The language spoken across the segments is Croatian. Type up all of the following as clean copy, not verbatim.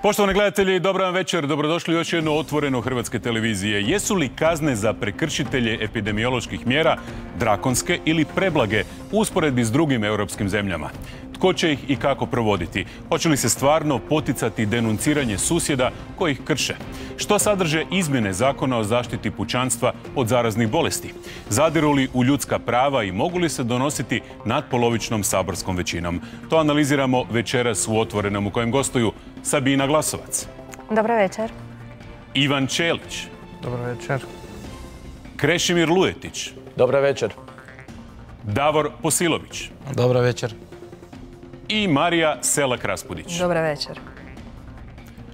Poštovani gledatelji, dobar vam večer. Dobrodošli u još jedno Otvoreno Hrvatske televizije. Jesu li kazne za prekršitelje epidemioloških mjera drakonske ili preblage u usporedbi s drugim europskim zemljama? Tko će ih i kako provoditi? Hoće li se stvarno poticati denunciranje susjeda koji ih krše? Što sadrže izmjene Zakona o zaštiti pučanstva od zaraznih bolesti? Zadiru li u ljudska prava i mogu li se donositi natpolovičnom saborskom većinom? To analiziramo večeras u Otvorenom, u kojem gostuju Sabina Glasovac. Dobro večer. Ivan Čelić. Dobro večer. Krešimir Lujetić. Dobro večer. Davor Posilović. Dobro večer. I Marija Selak-Raspudić. Dobro večer.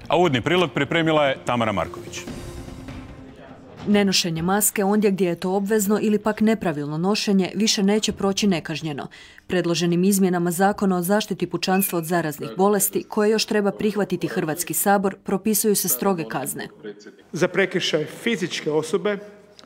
A uvodni prilog pripremila je Tamara Marković. Nenošenje maske ondje gdje je to obvezno ili pak nepravilno nošenje više neće proći nekažnjeno. Predloženim izmjenama Zakona o zaštiti pučanstva od zaraznih bolesti, koje još treba prihvatiti Hrvatski sabor, propisuju se stroge kazne. Za prekršaj fizičke osobe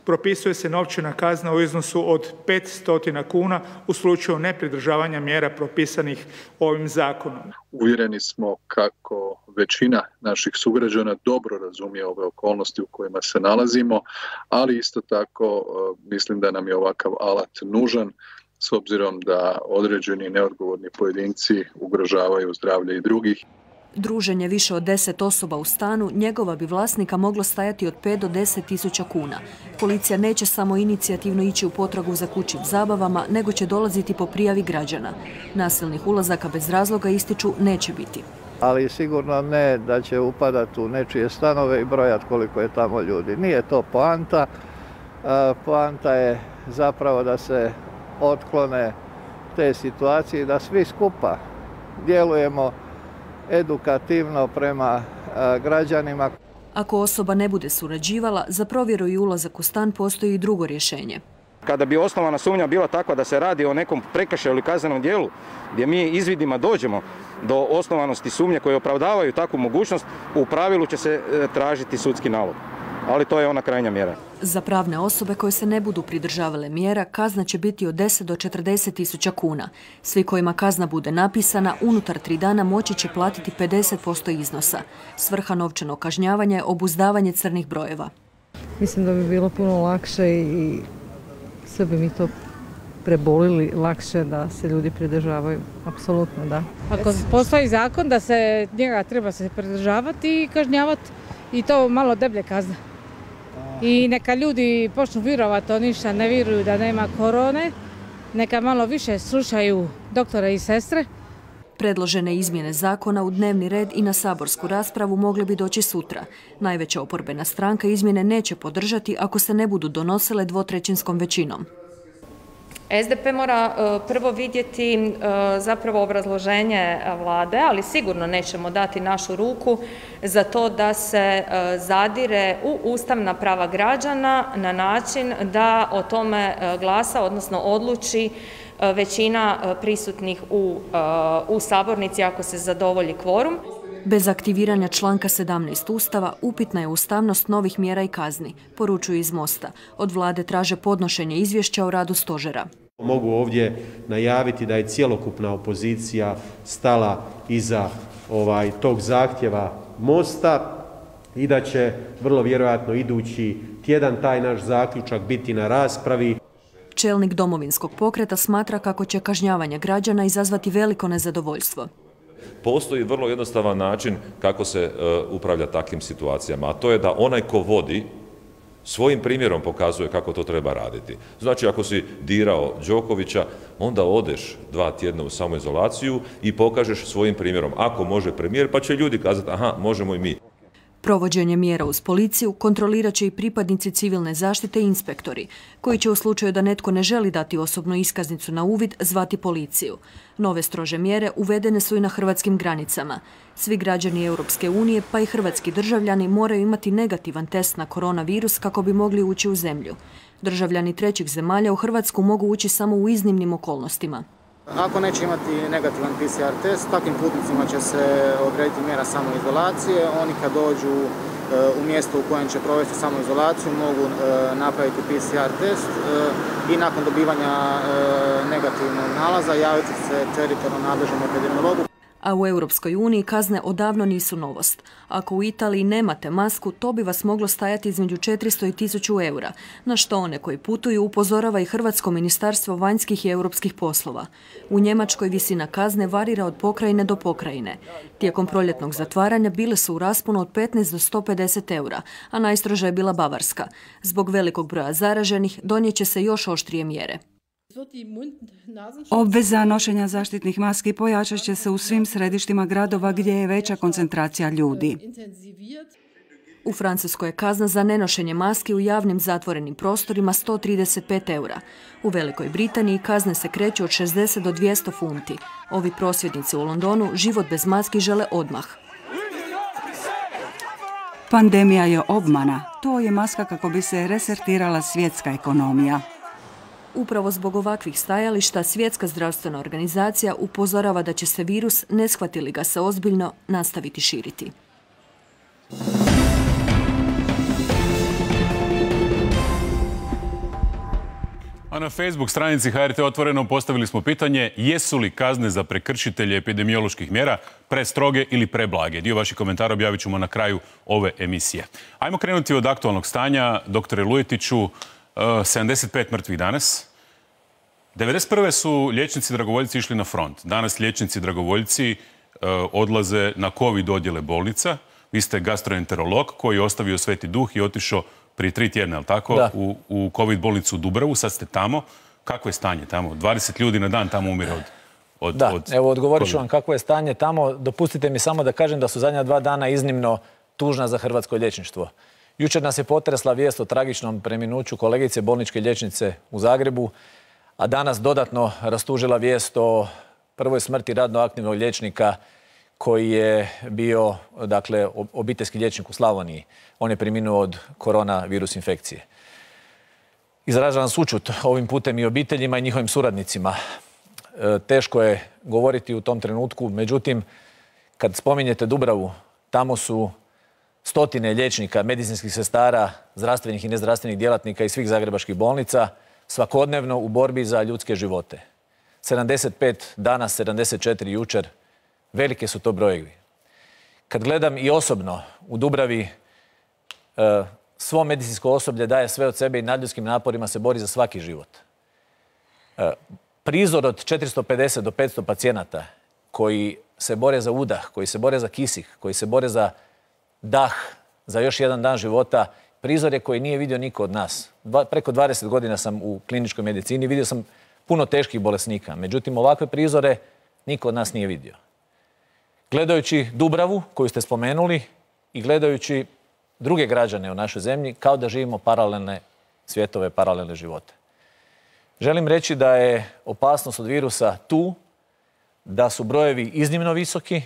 propisuje se novčana kazna u iznosu od 500 kuna u slučaju nepridržavanja mjera propisanih ovim zakonom. Uvjereni smo kako većina naših sugrađana dobro razumije ove okolnosti u kojima se nalazimo, ali isto tako mislim da nam je ovakav alat nužan s obzirom da određeni neodgovorni pojedinci ugrožavaju zdravlje i drugih. Druženje više od 10 osoba u stanu njegova bi vlasnika moglo stajati od 5 do 10 tisuća kuna. Policija neće samo inicijativno ići u potragu za kućnim zabavama, nego će dolaziti po prijavi građana. Nasilnih ulazaka bez razloga, ističu, neće biti. Ali sigurno ne da će upadati u nečije stanove i brojati koliko je tamo ljudi. Nije to poanta. Poanta je zapravo da se otklone te situacije i da svi skupa djelujemo edukativno prema građanima. Ako osoba ne bude surađivala, za provjeru i ulazak u stan postoji i drugo rješenje. Kada bi osnovana sumnja bila takva da se radi o nekom prekršaju ili kaznenom djelu, gdje mi izvidima dođemo do osnovanosti sumnje koje opravdavaju takvu mogućnost, u pravilu će se tražiti sudski nalog. Ali to je ona krajnja mjera. Za pravne osobe koje se ne budu pridržavale mjera, kazna će biti od 10 do 40 tisuća kuna. Svi kojima kazna bude napisana, unutar 3 dana moći će platiti 50% iznosa. Svrha novčanog kažnjavanja je obuzdavanje crnih brojeva. Mislim da bi bilo puno lakše i sve bi mi to prebolili lakše da se ljudi pridržavaju. Apsolutno, da. Ako postoji zakon da se njega treba se pridržavati i kažnjavati, i to malo deblje kazne. I neka ljudi počnu vjerovati, to ništa ne vjeruju da nema korone, neka malo više slušaju doktore i sestre. Predložene izmjene zakona u dnevni red i na saborsku raspravu mogle bi doći sutra. Najveća oporbena stranka izmjene neće podržati ako se ne budu donosile dvotrećinskom većinom. SDP mora prvo vidjeti zapravo obrazloženje vlade, ali sigurno nećemo dati našu ruku za to da se zadire u ustavna prava građana na način da o tome glasa, odnosno odluči većina prisutnih u sabornici ako se zadovolji kvorum. Bez aktiviranja članka 17 Ustava upitna je ustavnost novih mjera i kazni, poručuju iz Mosta. Od vlade traže podnošenje izvješća o radu stožera. Mogu ovdje najaviti da je cjelokupna opozicija stala iza tog zahtjeva Mosta i da će vrlo vjerojatno idući tjedan taj naš zaključak biti na raspravi. Čelnik Domovinskog pokreta smatra kako će kažnjavanje građana izazvati veliko nezadovoljstvo. Postoji vrlo jednostavan način kako se upravlja takvim situacijama, a to je da onaj ko vodi svojim primjerom pokazuje kako to treba raditi. Znači, ako si dirao Đokovića, onda odeš 2 tjedna u samoizolaciju i pokažeš svojim primjerom. Ako može premijer, pa će ljudi kazati, aha, možemo i mi. Provođenje mjera uz policiju kontrolirat će i pripadnici civilne zaštite i inspektori, koji će u slučaju da netko ne želi dati osobnu iskaznicu na uvid zvati policiju. Nove strože mjere uvedene su i na hrvatskim granicama. Svi građani Europske unije, pa i hrvatski državljani, moraju imati negativan test na koronavirus kako bi mogli ući u zemlju. Državljani trećih zemalja u Hrvatsku mogu ući samo u iznimnim okolnostima. Ako neće imati negativan PCR test, takvim putnicima će se odrediti mjera samoizolacije. Oni kad dođu u mjesto u kojem će provesti samoizolaciju mogu napraviti PCR test i nakon dobivanja negativnog nalaza javiti se teritorijalno nadležnom epidemiologu. a u Europskoj uniji kazne odavno nisu novost. Ako u Italiji nemate masku, to bi vas moglo stajati između 400 i 1000 eura, na što one koji putuju upozorava i Hrvatsko ministarstvo vanjskih i europskih poslova. U Njemačkoj visina kazne varira od pokrajine do pokrajine. Tijekom proljetnog zatvaranja bile su u rasponu od 15 do 150 eura, a najstroža je bila Bavarska. Zbog velikog broja zaraženih donijet će se još oštrije mjere. Obveza nošenja zaštitnih maski pojačat će se u svim središtima gradova gdje je veća koncentracija ljudi. U Francuskoj je kazna za nenošenje maski u javnim zatvorenim prostorima 135 eura. U Velikoj Britaniji kazne se kreću od 60 do 200 funti. Ovi prosvjednici u Londonu život bez maski žele odmah. Pandemija je obmana. To je maska kako bi se resetirala svjetska ekonomija. Upravo zbog ovakvih stajališta Svjetska zdravstvena organizacija upozorava da će se virus, ne shvati li ga se ozbiljno, nastaviti širiti. A na Facebook stranici HRT Otvoreno postavili smo pitanje jesu li kazne za prekršitelje epidemioloških mjera prestroge ili preblage. Dio vaših komentara objavit ćemo na kraju ove emisije. Ajmo krenuti od aktualnog stanja. Doktore Lujetiću, 75 mrtvih danas. 1991. su liječnici dragovoljci išli na front. Danas liječnici dragovoljci odlaze na COVID odjele bolnica. Vi ste gastroenterolog koji je ostavio Sveti Duh i otišao prije 3 tjedna, je li tako, u COVID bolnicu u Dubravu. Sad ste tamo. Kakvo je stanje tamo? 20 ljudi na dan tamo umire od Da, evo odgovorit ću vam kakvo je stanje tamo. Dopustite mi samo da kažem da su zadnja 2 dana iznimno tužna za hrvatsko liječništvo. Jučer nas je potresla vijest o tragičnom preminuću kolegice bolničke liječnice u Zagrebu, a danas dodatno rastužila vijest o prvoj smrti radno aktivnog liječnika koji je bio, dakle, obiteljski liječnik u Slavoniji. On je preminuo od koronavirus infekcije. Izražavam sućut ovim putem i obiteljima i njihovim suradnicima. Teško je govoriti u tom trenutku, međutim, kad spominjete Dubravu, tamo su stotine liječnika, medicinskih sestara, zdravstvenih i nezdravstvenih djelatnika iz svih zagrebačkih bolnica svakodnevno u borbi za ljudske živote. 75 danas, 74 jučer, velike su to brojevi. Kad gledam i osobno u Dubravi, svo medicinsko osoblje daje sve od sebe i nadljudskim naporima se bori za svaki život. Prizor od 450 do 500 pacijenata koji se bore za udah, koji se bore za kisik, koji se bore za dah, za još jedan dan života, prizor je koji nije vidio niko od nas. Preko 20 godina sam u kliničkoj medicini, vidio sam puno teških bolesnika. Međutim, ovakve prizore niko od nas nije vidio. Gledajući Dubravu, koju ste spomenuli, i gledajući druge građane u našoj zemlji, kao da živimo paralelne svjetove, paralelne živote. Želim reći da je opasnost od virusa tu, da su brojevi iznimno visoki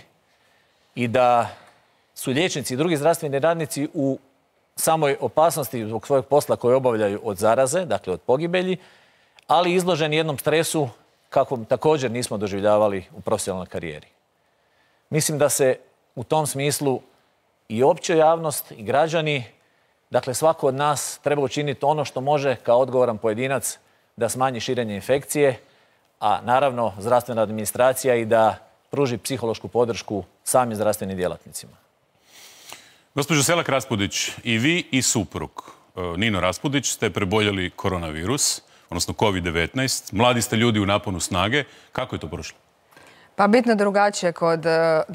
i da su liječnici i drugi zdravstveni radnici u samoj opasnosti zbog svojeg posla koje obavljaju od zaraze, dakle od pogibelji, ali izloženi jednom stresu kakvom također nismo doživljavali u profesionalnoj karijeri. Mislim da se u tom smislu i opća javnost i građani, dakle svako od nas treba učiniti ono što može kao odgovoran pojedinac da smanji širenje infekcije, a naravno zdravstvena administracija i da pruži psihološku podršku samim zdravstvenim djelatnicima. Gospođo Selak Raspudić, i vi i suprug Nino Raspudić ste preboljeli koronavirus, odnosno COVID-19. Mladi ste ljudi u naponu snage. Kako je to prošlo? Pa bitno drugačije kod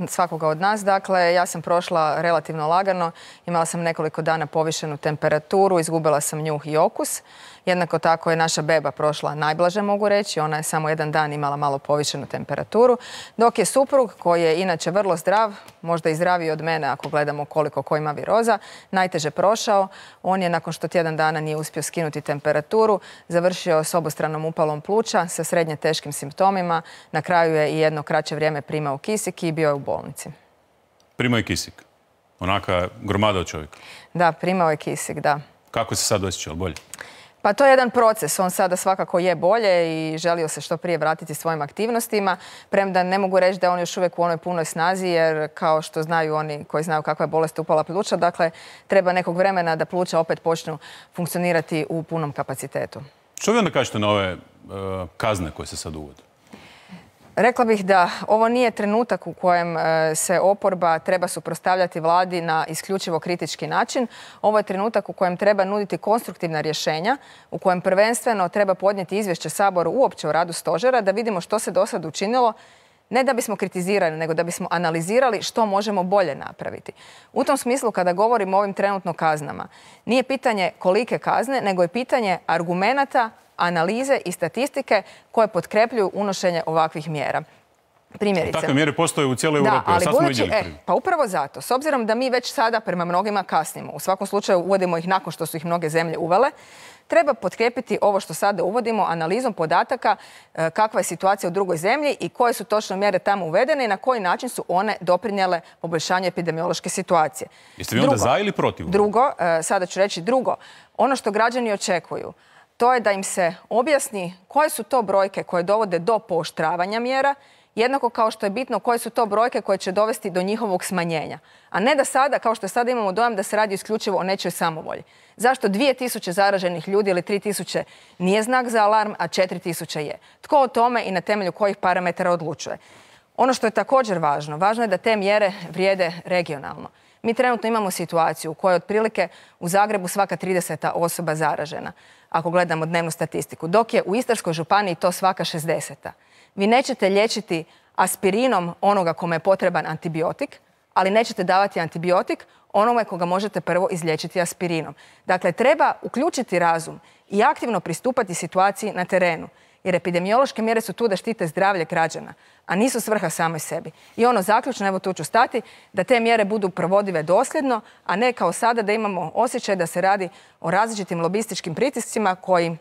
svakoga od nas. Dakle, ja sam prošla relativno lagano. Imala sam nekoliko dana povišenu temperaturu, izgubila sam njuh i okus. Jednako tako je naša beba prošla najblaže, mogu reći. Ona je samo 1 dan imala malo povišenu temperaturu. Dok je suprug, koji je inače vrlo zdrav, možda i zdraviji od mene ako gledamo koliko ko ima viroza, najteže prošao. On je, nakon što tjedan dana nije uspio skinuti temperaturu, završio s obostranom upalom pluća sa srednje teškim simptomima. Na kraju je i jedno kraće vrijeme primao kisik i bio je u bolnici. Primao je kisik? Onaka gromada od čovjeka? Da, primao je kisik, da. Kako se sad osjećao? Bolje? Pa to je jedan proces. On sada svakako je bolje i želio se što prije vratiti svojim aktivnostima. Premda ne mogu reći da on još uvijek u onoj punoj snazi, jer kao što znaju oni koji znaju kakva je bolest upala pluća, dakle treba nekog vremena da pluća opet počnu funkcionirati u punom kapacitetu. Što vi onda kažete na ove kazne koje se sad uvode? Rekla bih da ovo nije trenutak u kojem se oporba treba suprotstavljati vladi na isključivo kritički način. Ovo je trenutak u kojem treba nuditi konstruktivna rješenja, u kojem prvenstveno treba podnijeti izvješće Saboru uopće o radu stožera, da vidimo što se do sad učinilo, ne da bismo kritizirali, nego da bismo analizirali što možemo bolje napraviti. U tom smislu, kada govorimo o ovim trenutno kaznama, nije pitanje kolike kazne, nego je pitanje argumenata, analize i statistike koje potkrepljuju unošenje ovakvih mjera. Primjerice. Takve mjere postoje u cijeloj Europi, a sad smo vidjeli prvi. Pa upravo zato. S obzirom da mi već sada prema mnogima kasnimo, u svakom slučaju uvodimo ih nakon što su ih mnoge zemlje uvele, treba potkrijepiti ovo što sada uvodimo analizom podataka kakva je situacija u drugoj zemlji i koje su točno mjere tamo uvedene i na koji način su one doprinijele poboljšanju epidemiološke situacije. Jeste vi onda za ili protiv? Drugo, sada ću reći drugo, ono što građani očekuju, to je da im se objasni koje su to brojke koje dovode do pooštravanja mjera, jednako kao što je bitno koje su to brojke koje će dovesti do njihovog smanjenja. A ne da sada, kao što sada imamo dojam da se radi isključivo o nečoj samovolji. Zašto 2000 zaraženih ljudi ili 3000 nije znak za alarm, a 4000 je? Tko o tome i na temelju kojih parametara odlučuje? Ono što je također važno je da te mjere vrijede regionalno. Mi trenutno imamo situaciju u kojoj otprilike u Zagrebu svaka 30. osoba zaražena, ako gledamo dnevnu statistiku, dok je u Istarskoj županiji to svaka 60. Vi nećete liječiti aspirinom onoga kome je potreban antibiotik, ali nećete davati antibiotik onome koga možete prvo izliječiti aspirinom. Dakle, treba uključiti razum i aktivno pristupati situaciji na terenu, jer epidemiološke mjere su tu da štite zdravlje građana, a nisu svrha samoj sebi. I ono zaključno, evo tu ću stati, da te mjere budu provodive dosljedno, a ne kao sada da imamo osjećaj da se radi o različitim lobističkim pritiscima koji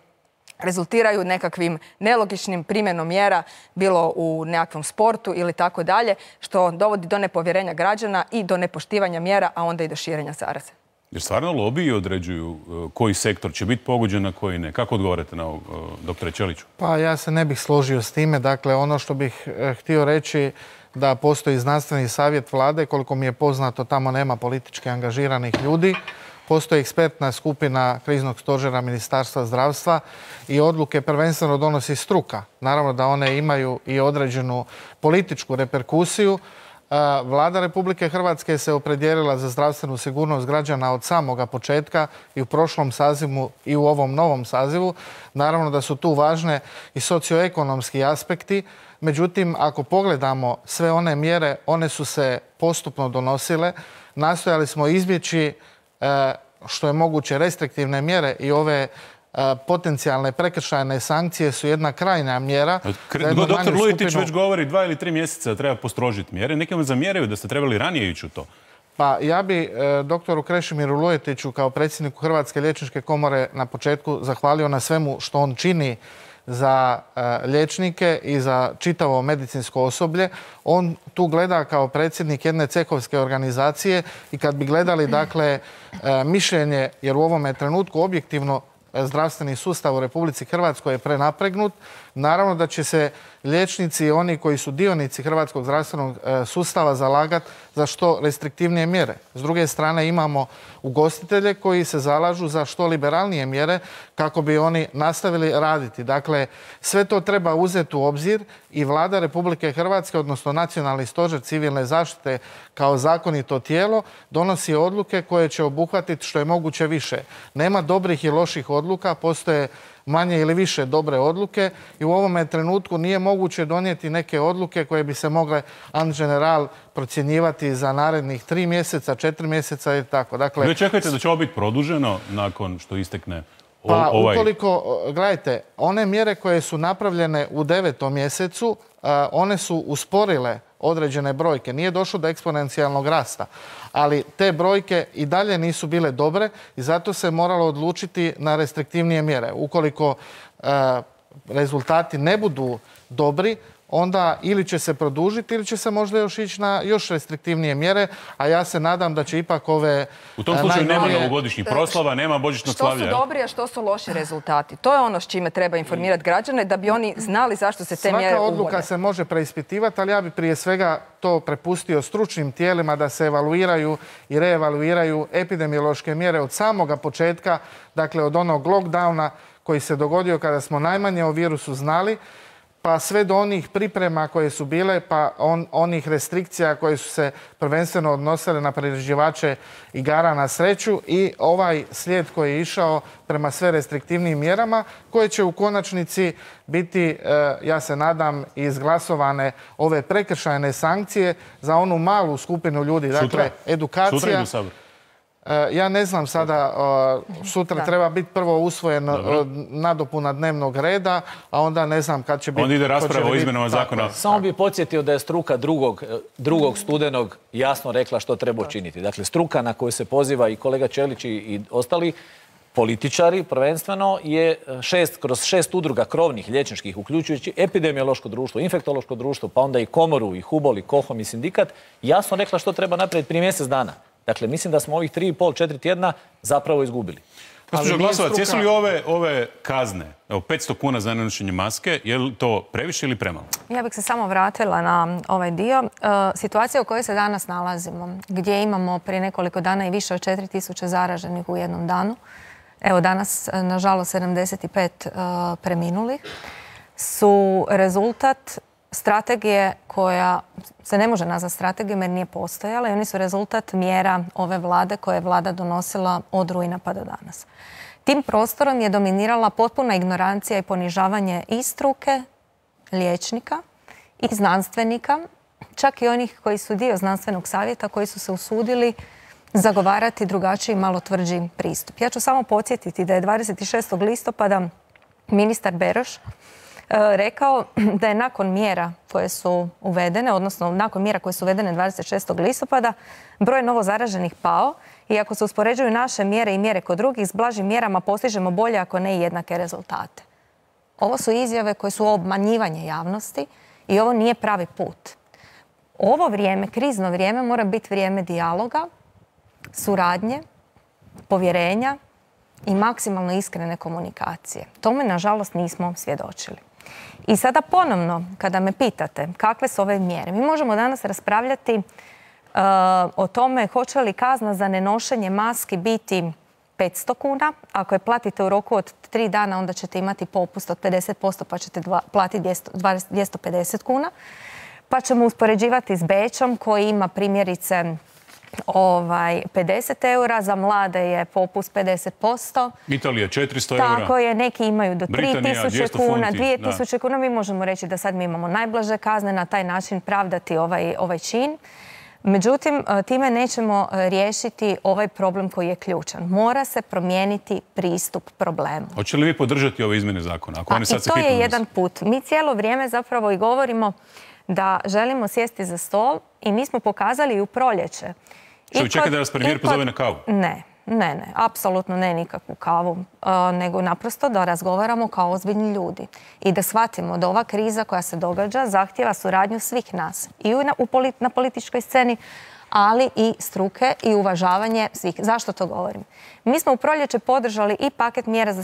rezultiraju nekakvim nelogičnim primjenom mjera, bilo u nekakvom sportu ili tako dalje, što dovodi do nepovjerenja građana i do nepoštivanja mjera, a onda i do širenja zaraze. Jer stvarno lobiji određuju koji sektor će biti pogođen, a koji ne. Kako odgovarate na ovo, doktore Ćeliću? Pa ja se ne bih složio s time. Dakle, ono što bih htio reći da postoji znanstveni savjet vlade, koliko mi je poznato, tamo nema politički angažiranih ljudi. Postoji ekspertna skupina kriznog stožera Ministarstva zdravstva i odluke prvenstveno donosi struka. Naravno da one imaju i određenu političku reperkusiju. Vlada Republike Hrvatske se opredijelila za zdravstvenu sigurnost građana od samoga početka i u prošlom sazivu i u ovom novom sazivu. Naravno da su tu važne i socioekonomski aspekti. Međutim, ako pogledamo sve one mjere, one su se postupno donosile. Nastojali smo izbjeći što je moguće restriktivne mjere i ove potencijalne prekršajne sankcije su jedna krajnja mjera. Doktor Lujetić već govori 2 ili 3 mjeseca da treba postrožiti mjere. Neki vam zamjeraju da ste trebali ranije ići u to. Pa ja bi doktoru Krešimiru Lujetiću kao predsjedniku Hrvatske liječničke komore na početku zahvalio na svemu što on čini za liječnike i za čitavo medicinsko osoblje. On tu gleda kao predsjednik jedne cehovske organizacije i kad bi gledali dakle mišljenje, jer u ovome trenutku objektivno zdravstveni sustav u Republici Hrvatskoj je prenapregnut, naravno da će se liječnici i oni koji su dionici hrvatskog zdravstvenog sustava zalagati za što restriktivnije mjere. S druge strane imamo ugostitelje koji se zalažu za što liberalnije mjere kako bi oni nastavili raditi. Dakle, sve to treba uzeti u obzir i Vlada Republike Hrvatske, odnosno Nacionalni stožer civilne zaštite kao zakonito tijelo, donosi odluke koje će obuhvatiti što je moguće više. Nema dobrih i loših odluka, postoje manje ili više dobre odluke i u ovome trenutku nije moguće donijeti neke odluke koje bi se mogle en general procjenjivati za narednih 3 mjeseca, 4 mjeseca i tako. Dakle, vi očekujete da će ovo biti produženo nakon što istekne ovaj... Ukoliko, gledajte, one mjere koje su napravljene u 9. mjesecu, one su usporile određene brojke. Nije došlo do eksponencijalnog rasta, ali te brojke i dalje nisu bile dobre i zato se moralo odlučiti na restriktivnije mjere. Ukoliko rezultati ne budu dobri, onda ili će se produžiti ili će se možda još ići na još restriktivnije mjere, a ja se nadam da će ipak ove... U tom slučaju nema novogodišnjih proslava, nema božićnog slavlja. Što su dobri, a što su loši rezultati? To je ono s čime treba informirati građane da bi oni znali zašto se te mjere uvode. Svaka odluka se može preispitivati, ali ja bi prije svega to prepustio stručnim tijelima da se evaluiraju i reevaluiraju epidemiološke mjere od samoga početka, dakle od onog lockdowna koji se dogodio kada smo najmanje o virusu znali, pa sve do onih priprema koje su bile, pa onih restrikcija koje su se prvenstveno odnosile na priređivače igara na sreću i ovaj slijed koji je išao prema sve restriktivnijim mjerama koje će u konačnici biti, ja se nadam, izglasovane ove prekršajne sankcije za onu malu skupinu ljudi. Dakle, edukacija. Sutra idu Sabor. Ja ne znam sada, sutra treba biti prvo usvojen nadopuna dnevnog reda, a onda ne znam kad će biti... Onda ide rasprava o izmjenama zakona. Samo bih podsjetio da je struka 2. studenog jasno rekla što treba učiniti. Dakle, struka na koju se poziva i kolega Čelić i ostali političari prvenstveno je kroz 6 udruga krovnih liječničkih, uključujući epidemiološko društvo, infektološko društvo, pa onda i komoru, i HUBOL, i KOHOM, i sindikat, jasno rekla što treba napraviti prije mjesec dana. Dakle, mislim da smo ovih 3,5-4 tjedna zapravo izgubili. Gospođo Glasovac, jesu li ove kazne, 500 kuna za nenošenje maske, je li to previše ili premalo? Ja bih se samo vratila na ovaj dio. Situacija u kojoj se danas nalazimo, gdje imamo prije nekoliko dana i više od 4000 zaraženih u jednom danu, evo danas, nažalost, 75 preminulih, su rezultat strategije koja se ne može nazvati strategijom jer nije postojala i oni su rezultat mjera ove vlade koje je vlada donosila od rujna pa do danas. Tim prostorom je dominirala potpuna ignorancija i ponižavanje i struke, liječnika i znanstvenika, čak i onih koji su dio znanstvenog savjeta, koji su se usudili zagovarati drugačiji, malo tvrđi pristup. Ja ću samo podsjetiti da je 26. listopada ministar Beroš rekao da je nakon mjera koje su uvedene, odnosno nakon mjera koje su uvedene 26. listopada, broj novozaraženih pao i ako se uspoređuju naše mjere i mjere kod drugih, s blažim mjerama postižemo bolje, ako ne i jednake rezultate. Ovo su izjave koje su obmanjivanje javnosti i ovo nije pravi put. Ovo vrijeme, krizno vrijeme, mora biti vrijeme dijaloga, suradnje, povjerenja i maksimalno iskrene komunikacije. Tome, nažalost, nismo svjedočili. I sada ponovno, kada me pitate kakve su ove mjere, mi možemo danas raspravljati o tome hoće li kazna za nenošenje maski biti 500 kuna. Ako je platite u roku od 3 dana, onda ćete imati popust od 50%, pa ćete platiti 250 kuna. Pa ćemo uspoređivati s Bečom koji ima primjerice 50 eura, za mlade je popust 50%. Italija 400 eura. Tako je, neki imaju do 3000 kuna, 2000 da. kuna. Mi možemo reći da sad mi imamo najblaže kazne, na taj način pravdati ovaj čin. Međutim, time nećemo riješiti ovaj problem koji je ključan. Mora se promijeniti pristup problemu. Hoće li vi podržati ove izmjene zakona? I to je jedan put. Mi cijelo vrijeme zapravo i govorimo da želimo sjesti za stol i mi smo pokazali u proljeće. Što vi čekate da vas premijer pozove na kavu? Ne, apsolutno ne nikakvu kavu, nego naprosto da razgovaramo kao ozbiljni ljudi i da shvatimo da ova kriza koja se događa zahtjeva suradnju svih nas i na političkoj sceni, ali i struke i uvažavanje svih. Zašto to govorim? Mi smo u proljeće podržali i paket mjera za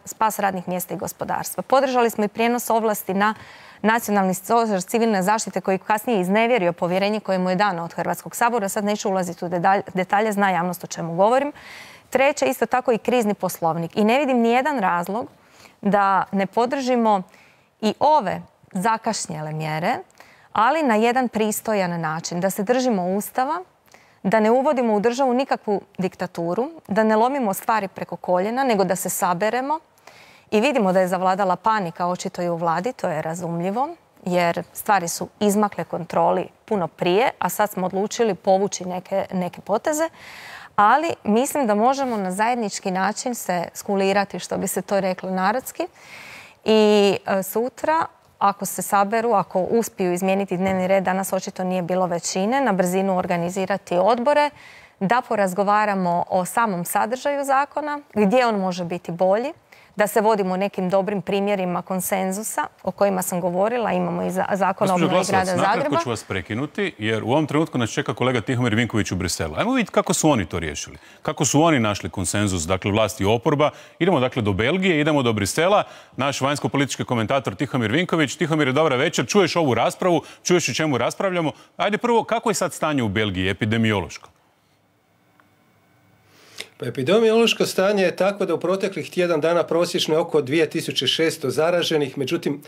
spas radnih mjesta i gospodarstva. Podržali smo i prijenos ovlasti na Nacionalni stožer civilne zaštite koji kasnije iznevjerio povjerenje koje mu je dano od Hrvatskog sabora. Sad neću ulaziti u detalje, zna javnost o čemu govorim. Treće, isto tako i krizni poslovnik. I ne vidim nijedan razlog da ne podržimo i ove zakašnjele mjere, ali na jedan pristojan način. Da se držimo Ustava, da ne uvodimo u državu nikakvu diktaturu, da ne lomimo stvari preko koljena, nego da se saberemo. I vidimo da je zavladala panika očito i u vladi, to je razumljivo, jer stvari su izmakle kontroli puno prije, a sad smo odlučili povući neke poteze. Ali mislim da možemo na zajednički način se skulirati, što bi se to reklo narodski. I sutra, ako se saberu, ako uspiju izmijeniti dnevni red, danas očito nije bilo većine, na brzinu organizirati odbore, da porazgovaramo o samom sadržaju zakona, gdje on može biti bolji, da se vodimo nekim dobrim primjerima konsenzusa o kojima sam govorila. Imamo i zakon o obnovi grada Zagreba. Nakratko ću vas prekinuti, jer u ovom trenutku nas čeka kolega Tihomir Vinković u Briselu. Ajmo vidjeti kako su oni to riješili. Kako su oni našli konsenzus, dakle vlast i oporba. Idemo dakle do Belgije, idemo do Brisela. Naš vanjsko-politički komentator Tihomir Vinković. Tihomir, dobra večer. Čuješ ovu raspravu, čuješ o čemu raspravljamo. Ajde prvo, kako je sad stanje u Belgiji, epidemiološko? Pa epidemiološko stanje je takvo da u proteklih tjedan dana prosječno je oko 2600 zaraženih, međutim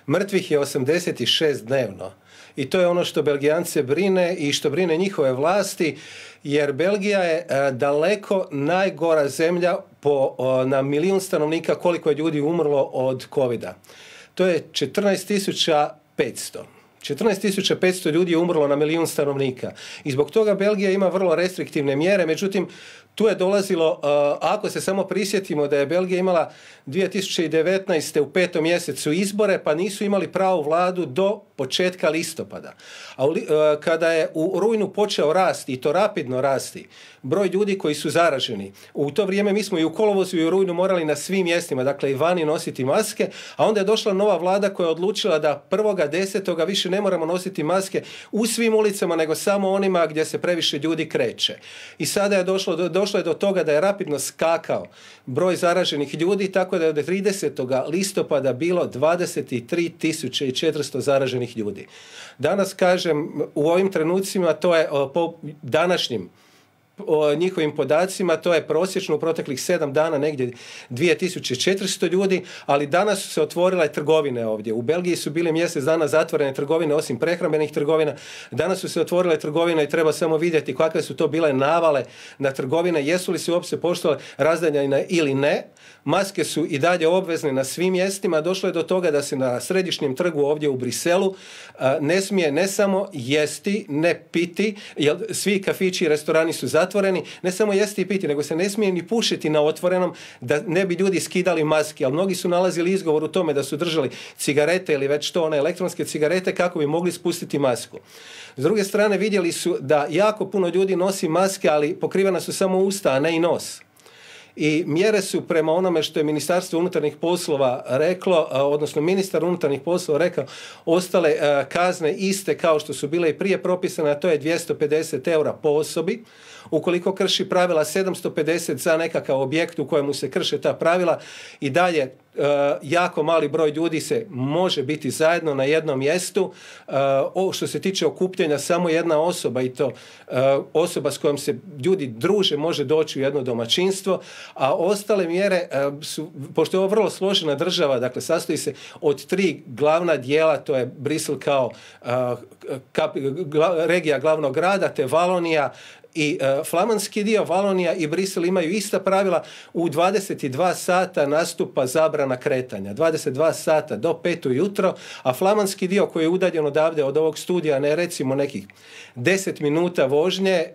Mrtvih je 86 dnevno. I to je ono što Belgijance brine i što brine njihove vlasti, jer Belgija je daleko najgora zemlja na milijun stanovnika koliko je ljudi umrlo od covida. To je 14.500. 14.500 ljudi je umrlo na milijun stanovnika. I zbog toga Belgija ima vrlo restriktivne mjere, međutim, tu je dolazilo, ako se samo prisjetimo da je Belgija imala 2019. u 5. mjesecu izbore, pa nisu imali pravu vladu do početka listopada. A kada je u rujnu počeo rasti, i to rapidno rasti, broj ljudi koji su zaraženi, u to vrijeme mi smo i u kolovozu i u rujnu morali na svim mjestima, dakle i vani nositi maske, a onda je došla nova vlada koja je odlučila da 1.10. više ne moramo nositi maske u svim ulicama, nego samo onima gdje se previše ljudi kreće. I sada je došlo je do toga da je rapidno skakao broj zaraženih ljudi, tako da je od 30. listopada bilo 23.400 zaraženih ljudi. Danas, kažem, u ovim trenucima, to je po današnjim njihovim podacima, to je prosječno u proteklih 7 dana negdje 2400 ljudi, ali danas su se otvorile trgovine ovdje. U Belgiji su bile mjesec dana zatvorene trgovine, osim prehrambenih trgovina. Danas su se otvorile trgovine i treba samo vidjeti kakve su to bile navale na trgovine, jesu li se uopće poštovale razdanja ili ne. Maske su i dalje obvezne na svim mjestima. Došlo je do toga da se na središnjem trgu ovdje u Briselu ne smije ne samo jesti, ne piti, jer svi kafići i restorani su zatvoreni, ne samo jesti i piti, nego se ne smije ni pušiti na otvorenom da ne bi ljudi skidali maske, ali mnogi su nalazili izgovor u tome da su držali cigarete ili već to one elektronske cigarete kako bi mogli spustiti masku. S druge strane, vidjeli su da jako puno ljudi nosi maske, ali pokrivena su samo usta, a ne i nos. I mjere su prema onome što je Ministarstvo unutarnjih poslova reklo, odnosno ministar unutarnjih poslova rekao, ostale kazne iste kao što su bile i prije propisane, a to je 250 eura po osobi. Ukoliko krši pravila, 750 za nekakav objekt u kojemu se krše ta pravila, i dalje jako mali broj ljudi se može biti zajedno na jednom mjestu. Što se tiče okupljanja, samo jedna osoba, i to osoba s kojom se ljudi druže, može doći u jedno domaćinstvo, a ostale mjere su, pošto je ovo vrlo složena država, dakle sastoji se od 3 glavna dijela, to je Brisel kao regija glavnog grada, te Valonija i flamanski dio. Valonija i Brisel imaju ista pravila. U 22 sata nastupa zabrana kretanja. 22 sata do 5 ujutro, a flamanski dio koji je udaljen odavde od ovog studija, ne recimo nekih 10 minuta vožnje,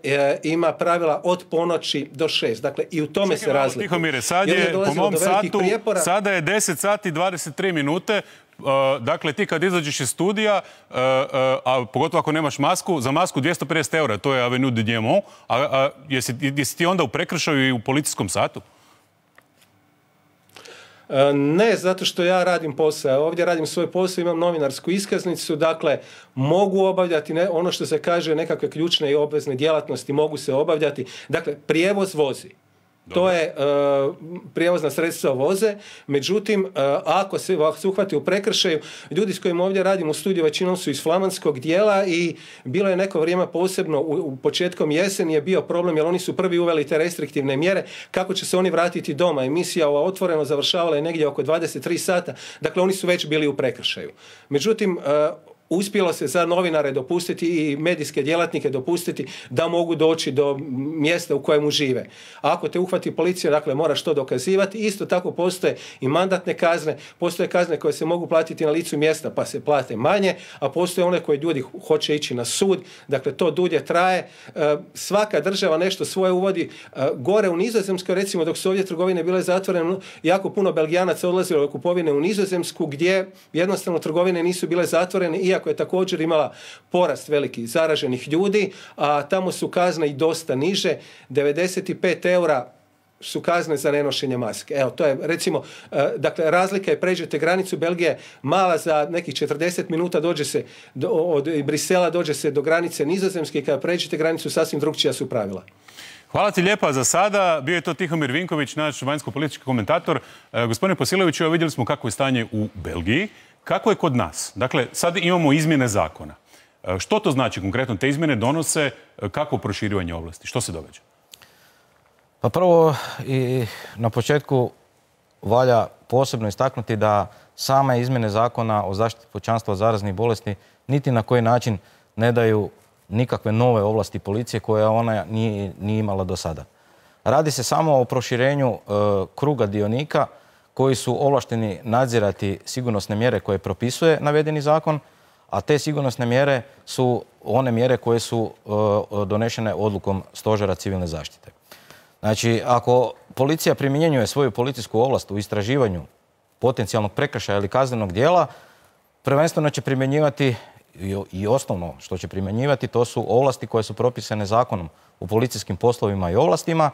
ima pravila od ponoći do 6. Dakle, i u tome se razlikuje. Tihomire, sad je po mom satu, sada je 10 sati 23 minute. Dakle, ti kad izađeš iz studija, a pogotovo ako nemaš masku, za masku 250 eura, to je Avenue de Diamant, a jesi ti onda u prekršaju i u policijskom satu? Ne, zato što ja radim posao. Ovdje radim svoj posao, imam novinarsku iskaznicu, dakle mogu obavljati ono što se kaže nekakve ključne i obvezne djelatnosti, mogu se obavljati. Dakle, prijevoz vozi. To je prijevozna sredstva voze, međutim, ako se uhvati u prekršaju, ljudi s kojima ovdje radim u studiju većinom su iz flamanskog dijela i bilo je neko vrijeme, posebno u početkom jeseni je bio problem, jer oni su prvi uveli te restriktivne mjere, kako će se oni vratiti doma. Emisija ova Otvoreno završavala je negdje oko 23 sata, dakle oni su već bili u prekršaju. Međutim, uspjelo se za novinare dopustiti i medijske djelatnike dopustiti da mogu doći do mjesta u kojemu žive. A ako te uhvati policija, dakle moraš to dokazivati. Isto tako postoje i mandatne kazne, postoje kazne koje se mogu platiti na licu mjesta pa se plate manje, a postoje one koje ljudi hoće ići na sud, dakle to dulje traje. Svaka država nešto svoje uvodi. Gore u Nizozemskoj, recimo, dok su ovdje trgovine bile zatvorene, jako puno Belgijanaca odlazilo u kupovine u Nizozemsku, gdje jednostavno trgovine nisu bile zatvorene, iako je također imala porast veliki zaraženih ljudi, a tamo su kazne i dosta niže. 95 eura su kazne za nenošenje maske. Evo, to je recimo, dakle, razlika je, pređete granicu Belgije mala, za nekih 40 minuta dođe se od Brisela dođe se do granice Nizozemske, i kada pređete granicu sasvim drukčija su pravila. Hvala ti lijepa za sada. Bio je to Tihomir Vinković, naš vanjsko-politički komentator. Gospodine Posiloviću, vidjeli smo kako je stanje u Belgiji. Kako je kod nas? Dakle, sad imamo izmjene zakona. Što to znači konkretno? Te izmjene donose kako proširivanje ovlasti? Što se događa? Pa prvo i na početku valja posebno istaknuti da same izmjene zakona o zaštiti pučanstva od zaraznih bolesti niti na koji način ne daju nikakve nove ovlasti policije koje ona nije imala do sada. Radi se samo o proširenju kruga dionika koji su ovlašteni nadzirati sigurnosne mjere koje propisuje navedeni zakon, a te sigurnosne mjere su one mjere koje su donešene odlukom Stožera civilne zaštite. Znači, ako policija primjenjuje svoju policijsku ovlast u istraživanju potencijalnog prekršaja ili kaznenog djela, prvenstveno će primjenjivati i osnovno što će primjenjivati to su ovlasti koje su propisane zakonom o policijskim poslovima i ovlastima,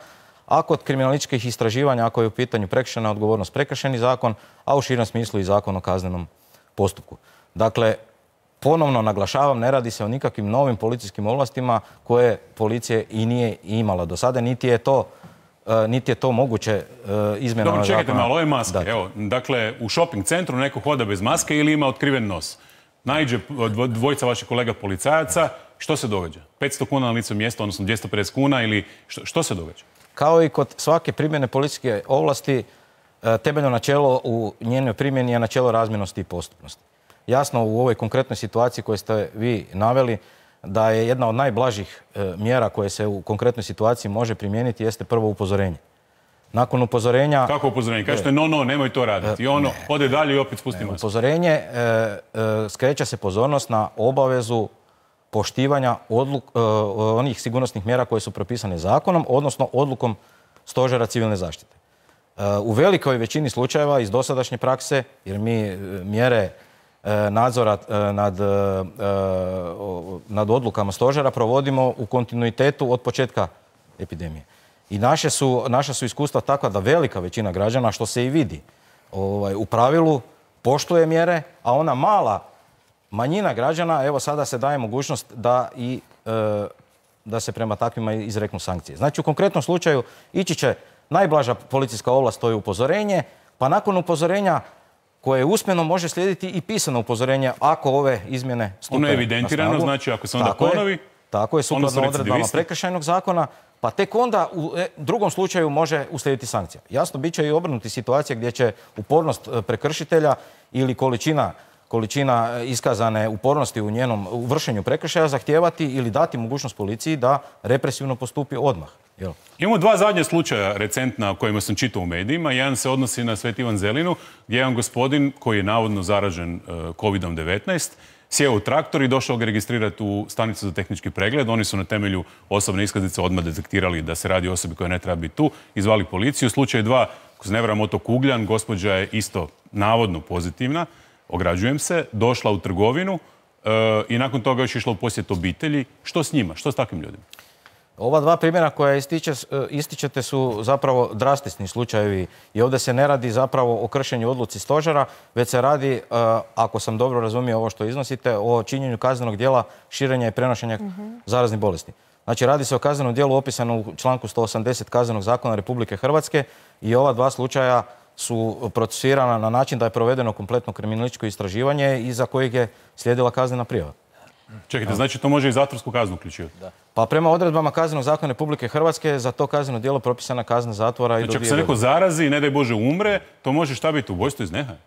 a kod kriminalističkih istraživanja, ako je u pitanju prekršajna odgovornost, prekršajni zakon, a u širem smislu i zakon o kaznenom postupku. Dakle, ponovno naglašavam, ne radi se o nikakvim novim policijskim ovlastima koje policija i nije imala do sada, niti je to moguće izmjenama zakona. Dobro, čekajte malo, ove maske. Evo, dakle, u shopping centru neko hoda bez maske ili ima otkriven nos. Naiđe dvojica vaših kolega policajaca, što se događa? 500 kuna na licu mjesta, odnosno 250 kuna ili što se događa? Kao i kod svake primjene policijske ovlasti, temeljno načelo u njenoj primjeni je načelo razmjernosti i postupnosti. Jasno, u ovoj konkretnoj situaciji koju ste vi naveli, da je jedna od najblažih mjera koje se u konkretnoj situaciji može primijeniti jeste prvo upozorenje. Nakon upozorenja... Kako upozorenje? Kažete nemoj to raditi. I ono ode dalje i opet spusti masku. Upozorenje skreće se pozornost na obavezu poštivanja onih sigurnosnih mjera koje su propisane zakonom, odnosno odlukom Stožera civilne zaštite. U velikoj većini slučajeva iz dosadašnje prakse, jer mi mjere nadzora nad odlukama Stožera provodimo u kontinuitetu od početka epidemije. I naša su iskustva takva da velika većina građana, što se i vidi, u pravilu poštuje mjere, a ona manjina građana, evo sada se daje mogućnost da se prema takvima izreknu sankcije. Znači, u konkretnom slučaju ići će najblaža policijska ovlast, to je upozorenje, pa nakon upozorenja koje usmeno može slijediti i pisano upozorenje ako ove izmjene stupe na snagu. Ono je evidentirano, znači ako se onda ponovi, tako je, sukladno odredbama prekršajnog zakona, pa tek onda u drugom slučaju može uslijediti sankcija. Jasno, bit će i obrnuti situacija gdje će upornost prekršitelja ili količina iskazane upornosti u vršenju prekršaja zahtijevati ili dati mogućnost policiji da represivno postupi odmah. Imamo dva zadnja slučaja recentna o kojima sam čitao u medijima. Jedan se odnosi na Sveti Ivan Zelinu, gdje je jedan gospodin koji je navodno zaražen COVID-19 sjeo u traktor i došao ga registrirati u stanicu za tehnički pregled. Oni su na temelju osobne iskaznice odmah detektirali da se radi o osobi koja ne treba biti tu, izvali policiju. Slučaj 2, ako se ne varam, otok Ugljan, gospođa je isto navodno pozitivna, ograđujem se, došla u trgovinu i nakon toga još išla u posjet obitelji. Što s njima? Što s takvim ljudima? Ova dva primjera koja ističete su zapravo drastični slučajevi i ovdje se ne radi zapravo o kršenju odluci Stožera, već se radi, ako sam dobro razumio ovo što iznosite, o činjenju kaznenog djela širenja i prenošenja zaraznih bolesti. Znači, radi se o kaznenom djelu opisano u članku 180 Kaznenog zakona Republike Hrvatske i ova dva slučaja su procesuirana na način da je provedeno kompletno kriminalističko istraživanje i za kojeg je slijedila kaznena prijava. Čekajte, znači to može i zatvorsku kaznu uključivati? Pa prema odredbama Kaznenog zakona Republike Hrvatske za to kazneno djelo propisana kazna zatvora i do 2 godine. Znači ako se neko zarazi i ne daj Bože umre, to može šta biti, ubojstvo iz nehaja?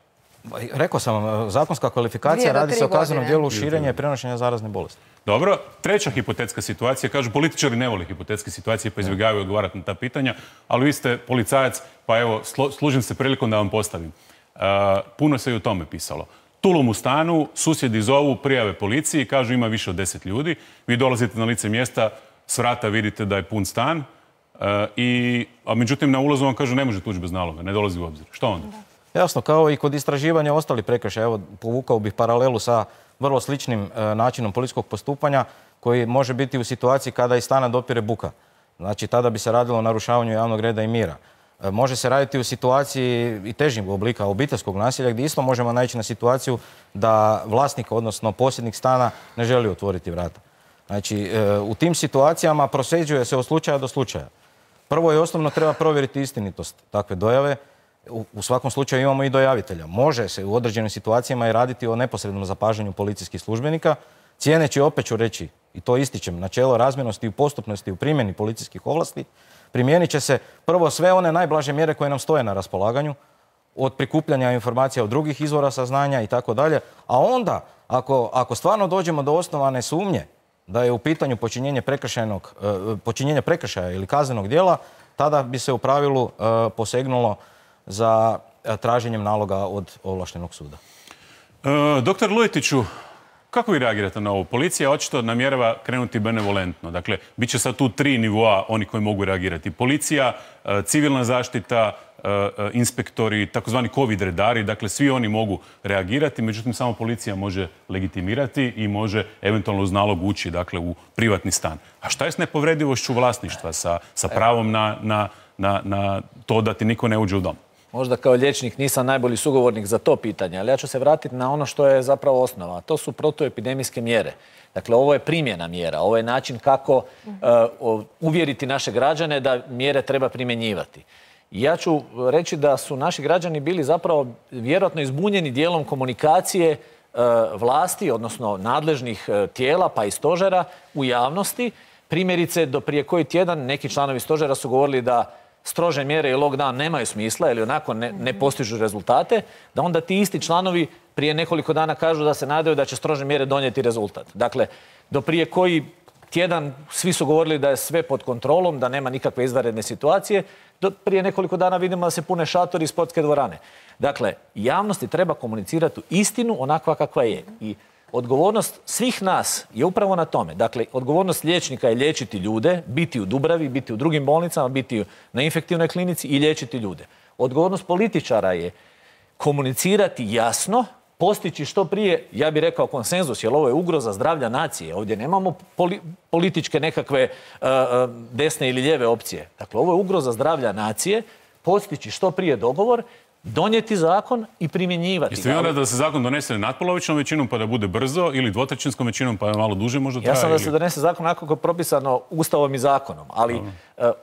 Rekao sam vam, zakonska kvalifikacija, radi se o kaznenom djelu širenja i prenošenja zarazne bolesti. Dobro, treća hipotetska situacija, kažu političari ne vole hipotetske situacije pa izbjegavaju odgovarati na ta pitanja, ali vi ste policajac, pa evo, služim se prilikom da vam postavim. Puno se i o tome pisalo. Tulum u stanu, susjedi zovu, prijave policiji, kažu ima više od 10 ljudi. Vi dolazite na lice mjesta, s vrata vidite da je pun stan, a međutim na ulazu vam kažu ne može tući bez naloga, ne dolazi u obzir. Što onda? Jasno, kao i kod istraživanja ostalih prekršaja. Evo, povukao bih paralelu sa vrlo sličnim načinom policijskog postupanja koji može biti u situaciji kada iz stana dopire buka. Znači, tada bi se radilo o narušavanju javnog reda i mira. Može se raditi u situaciji i težih oblika obiteljskog nasilja gdje isto možemo naići na situaciju da vlasnik, odnosno posjednik stana, ne želi otvoriti vrata. Znači, u tim situacijama prosljeđuje se od slučaja do slučaja. Prvo i osnovno treba provjeriti istinitost takve dojave. U svakom slučaju imamo i dojavitelja. Može se u određenim situacijama i raditi o neposrednom zapažanju policijskih službenika, cijeneći, opet ću reći, i to ističem, načelo razmjernosti i postupnosti u primjeni policijskih ovlasti, primijenit će se prvo sve one najblaže mjere koje nam stoje na raspolaganju, od prikupljanja informacija od drugih izvora saznanja i tako dalje. A onda, ako stvarno dođemo do osnovane sumnje da je u pitanju počinjenje prekršaja ili kaznenog djela, tada bi se u pravilu posegnulo za traženjem naloga od ovlaštenog suda. Doktor Lujetiću, kako vi reagirate na ovo? Policija očito namjerava krenuti benevolentno. Dakle, bit će sad tu 3 nivoa oni koji mogu reagirati. Policija, civilna zaštita, inspektori, takozvani covid redari, dakle svi oni mogu reagirati, međutim samo policija može legitimirati i može eventualno uz nalog ući, dakle, u privatni stan. A šta je s nepovredivošću vlasništva, sa pravom na to da ti niko ne uđe u dom? Možda kao liječnik nisam najbolji sugovornik za to pitanje, ali ja ću se vratiti na ono što je zapravo osnova. To su protuepidemijske mjere. Dakle, ovo je primjena mjera, ovo je način kako uvjeriti naše građane da mjere treba primjenjivati. Ja ću reći da su naši građani bili zapravo vjerojatno izbunjeni dijelom komunikacije vlasti, odnosno nadležnih tijela pa i stožera u javnosti. Primjerice, do prije koji tjedan neki članovi stožera su govorili da strože mjere i lockdown nemaju smisla ili onako ne postižu rezultate, da onda ti isti članovi prije nekoliko dana kažu da se nadaju da će strože mjere donijeti rezultat. Dakle, do prije koji tjedan svi su govorili da je sve pod kontrolom, da nema nikakve izvanredne situacije, do prije nekoliko dana vidimo da se pune šatori i sportske dvorane. Dakle, javnosti treba komunicirati istinu onakva kakva je. I odgovornost svih nas je upravo na tome. Dakle, odgovornost liječnika je liječiti ljude, biti u Dubravi, biti u drugim bolnicama, biti na infektivnoj klinici i liječiti ljude. Odgovornost političara je komunicirati jasno, postići što prije, ja bih rekao, konsenzus, jer ovo je ugroza zdravlja nacije. Ovdje nemamo političke nekakve desne ili lijeve opcije. Dakle, ovo je ugroza zdravlja nacije, postići što prije dogovor, donijeti zakon i primjenjivati. Jeste vi onda da se zakon donese natpolovičnom većinom pa da bude brzo ili dvotrećinskom većinom pa malo duže možda traje? Ja sam da se donese zakon onako kako je propisano Ustavom i zakonom, ali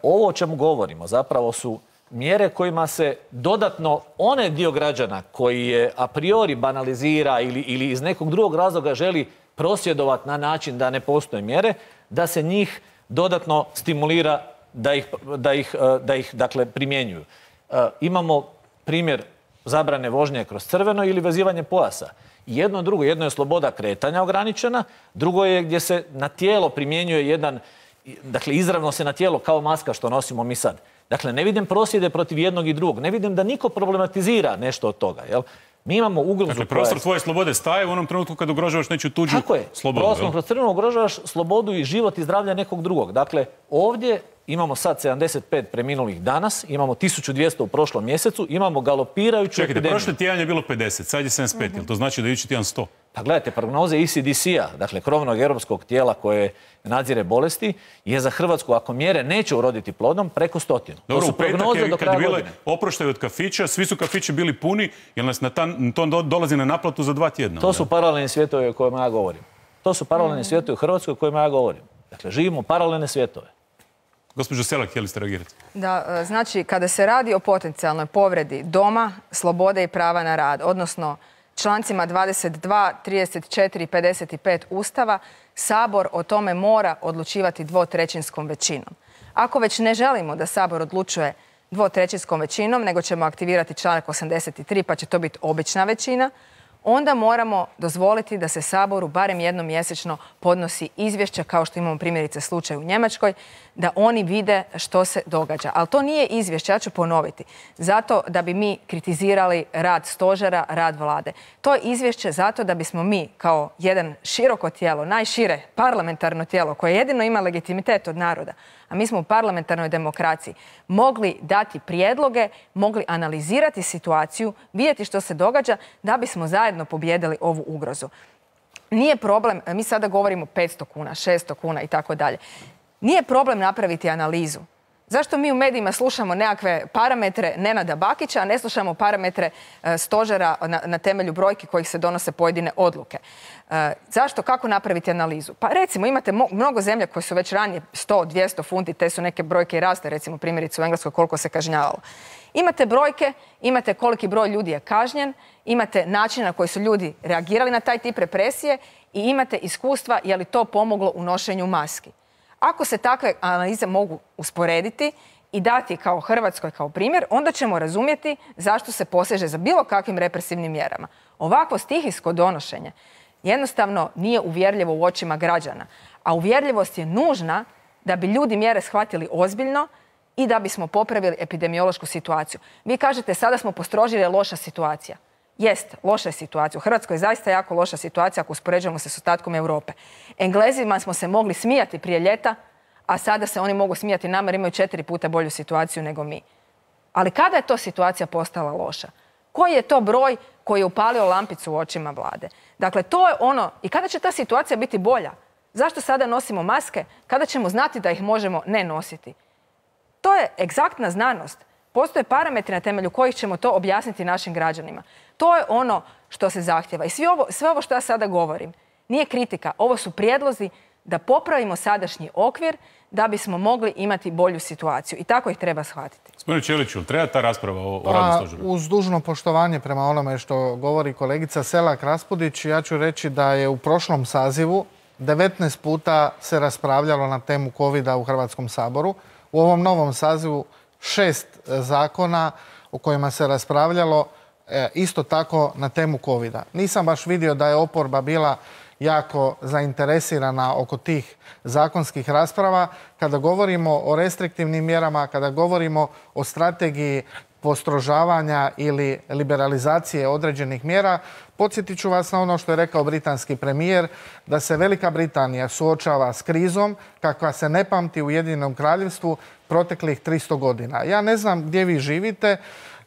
ovo o čemu govorimo zapravo su mjere kojima se dodatno onaj dio građana koji je a priori banalizira ili iz nekog drugog razloga želi prosvjedovati na način da ne postoje mjere, da se njih dodatno stimulira da ih dakle, primjenjuju. Imamo primjer zabrane vožnje kroz crveno ili vezivanje pojasa. Jedno drugo, jedno je sloboda kretanja ograničena, drugo je gdje se na tijelo primjenjuje jedan, dakle izravno se na tijelo kao maska što nosimo mi sad. Dakle, ne vidim prosvjede protiv jednog i drugog, ne vidim da niko problematizira nešto od toga, jel? Mi imamo ugrozu. Dakle, prostor tvoje slobode staje u onom trenutku kad ugrožavaš nečiju tuđu slobodu. Tako je, prostor kroz crveno ugrožavaš slobodu i život i zdravlje nekog drugog. Dakle, ovdje imamo sad 75 preminulih danas, imamo 1200 u prošlom mjesecu, imamo galopirajuću epidemiju. Čekajte, prošli tjedan je bilo 50, sad je 75, jel to znači da je idući tjedan 100? Pa gledajte, prognoze ECDC-a, dakle krovnog europskog tijela koje nadzire bolesti, je za Hrvatsku, ako mjere neće uroditi plodom, preko 100. Dobro, u petak kad je bile oproštaj od kafića, svi su kafići bili puni, jer nas to dolazi na naplatu za 2 tjedna. To su paralelni svijetovi o kojima ja govorim. To su paralelni svijetovi u Hrvatskoj o kojima ja govorim. Dakle, živimo paralelne svjetove. Gospođo Selak, htjeli ste reagirati? Da, znači, kada se radi o potencijalnoj povredi doma, slobode i prava na rad, odnosno člancima 22, 34 i 55 Ustava, Sabor o tome mora odlučivati dvotrećinskom većinom. Ako već ne želimo da Sabor odlučuje dvotrećinskom većinom, nego ćemo aktivirati članak 83, pa će to biti obična većina, onda moramo dozvoliti da se Saboru barem jednom mjesečno podnosi izvješće, kao što imamo primjerice slučaj u Njemačkoj, da oni vide što se događa. Ali to nije izvješće, ja ću ponoviti, zato da bi mi kritizirali rad stožera, rad vlade. To je izvješće zato da bismo mi kao jedan široko tijelo, najšire parlamentarno tijelo koje jedino ima legitimitet od naroda, a mi smo u parlamentarnoj demokraciji, mogli dati prijedloge, mogli analizirati situaciju, vidjeti što se događa da bismo zajedno pobijedili ovu ugrozu. Nije problem, mi sada govorimo 500 kuna, 600 kuna i tako dalje. Nije problem napraviti analizu. Zašto mi u medijima slušamo nekakve parametre Nenada Bakića, a ne slušamo parametre stožera na temelju brojki kojih se donose pojedine odluke? Zašto? Kako napraviti analizu? Pa recimo imate mnogo zemlja koje su već ranije 100, 200 funti, te su neke brojke i raste, recimo primjerice u Engleskoj koliko se kažnjavalo. Imate brojke, imate koliki broj ljudi je kažnjen, imate način na koji su ljudi reagirali na taj tip represije i imate iskustva je li to pomoglo u nošenju maski. Ako se takve analize mogu usporediti i dati kao Hrvatskoj kao primjer, onda ćemo razumjeti zašto se poseže za bilo kakvim represivnim mjerama. Ovakvo stihijsko donošenje jednostavno nije uvjerljivo u očima građana, a uvjerljivost je nužna da bi ljudi mjere shvatili ozbiljno i da bismo popravili epidemiološku situaciju. Vi kažete sada smo postrožili, je loša situacija. Jest, loša je situacija. U Hrvatskoj je zaista jako loša situacija ako uspoređujemo se s ostatkom Europe. Englezima smo se mogli smijati prije ljeta, a sada se oni mogu smijati nama jer imaju 4 puta bolju situaciju nego mi. Ali kada je to situacija postala loša? Koji je to broj koji je upalio lampicu u očima vlade? Dakle, to je ono, i kada će ta situacija biti bolja? Zašto sada nosimo maske? Kada ćemo znati da ih možemo ne nositi? To je egzaktna znanost. Postoje parametri na temelju kojih ćemo to objasniti našim građanima. To je ono što se zahtjeva. I sve ovo što ja sada govorim nije kritika. Ovo su prijedlozi da popravimo sadašnji okvir da bismo mogli imati bolju situaciju. I tako ih treba shvatiti. Gospodine Ćeliću, treba ta rasprava o radu stožera? Uz dužno poštovanje prema onome što govori kolegica Selak Raspudić, ja ću reći da je u prošlom sazivu 19 puta se raspravljalo na temu COVID-a u Hrvatskom saboru. U ovom novom sazivu 6 zakona o kojima se raspravljalo isto tako na temu COVID-a. Nisam baš vidio da je oporba bila jako zainteresirana oko tih zakonskih rasprava. Kada govorimo o restriktivnim mjerama, kada govorimo o strategiji postrožavanja ili liberalizacije određenih mjera, podsjetit ću vas na ono što je rekao britanski premijer, da se Velika Britanija suočava s krizom kakva se ne pamti u Ujedinjenom Kraljevstvu proteklih 300 godina. Ja ne znam gdje vi živite,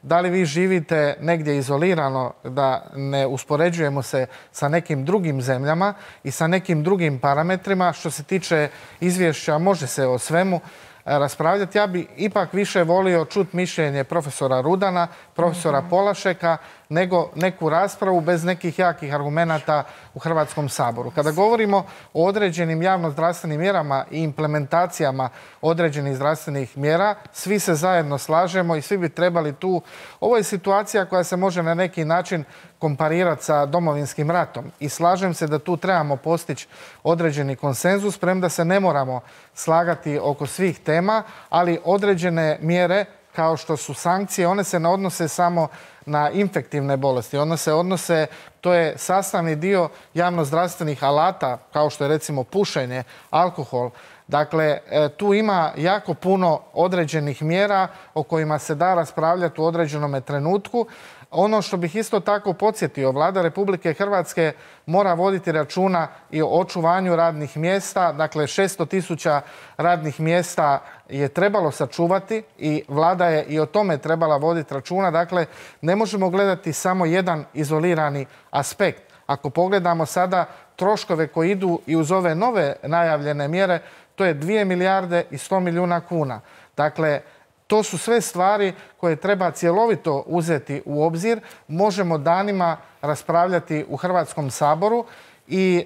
da li vi živite negdje izolirano, da ne uspoređujemo se sa nekim drugim zemljama i sa nekim drugim parametrima. Što se tiče izvješća, može se o svemu raspravljati. Ja bi ipak više volio čuti mišljenje profesora Rudana, profesora Polašeka, nego neku raspravu bez nekih jakih argumenata u Hrvatskom saboru. Kada govorimo o određenim javno-zdravstvenim mjerama i implementacijama određenih zdravstvenih mjera, svi se zajedno slažemo i svi bi trebali tu. Ovo je situacija koja se može na neki način komparirati sa Domovinskim ratom i slažem se da tu trebamo postići određeni konsenzus, premda se ne moramo slagati oko svih tema, ali određene mjere kao što su sankcije, one se ne odnose samo na infektivne bolesti. One se odnose, to je sastavni dio javnozdravstvenih alata, kao što je recimo pušenje, alkohol. Dakle, tu ima jako puno određenih mjera o kojima se da raspravljati u određenom trenutku. Ono što bih isto tako podsjetio, Vlada Republike Hrvatske mora voditi računa i o očuvanju radnih mjesta. Dakle, 600.000 radnih mjesta je trebalo sačuvati i Vlada je i o tome trebala voditi računa. Dakle, ne možemo gledati samo jedan izolirani aspekt. Ako pogledamo sada troškove koji idu i uz ove nove najavljene mjere, to je 2 milijarde i 100 milijuna kuna. Dakle, to su sve stvari koje treba cjelovito uzeti u obzir. Možemo danima raspravljati u Hrvatskom saboru i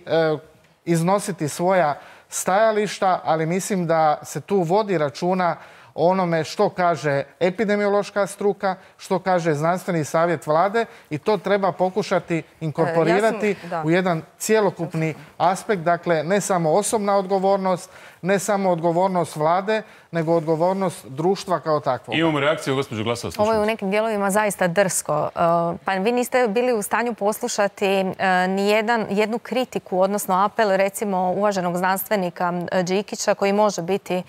iznositi svoja stajališta, ali mislim da se tu vodi računa o onome što kaže epidemiološka struka, što kaže znanstveni savjet vlade i to treba pokušati inkorporirati u jedan cjelokupni aspekt. Dakle, ne samo osobna odgovornost, ne samo odgovornost vlade, nego odgovornost društva kao takvog. Imamo reakciju, gospođo Glasovac. Ovo je u nekim dijelovima zaista drsko. Pa vi niste bili u stanju poslušati ni jednu kritiku, odnosno apel recimo uvaženog znanstvenika Đikića koji može biti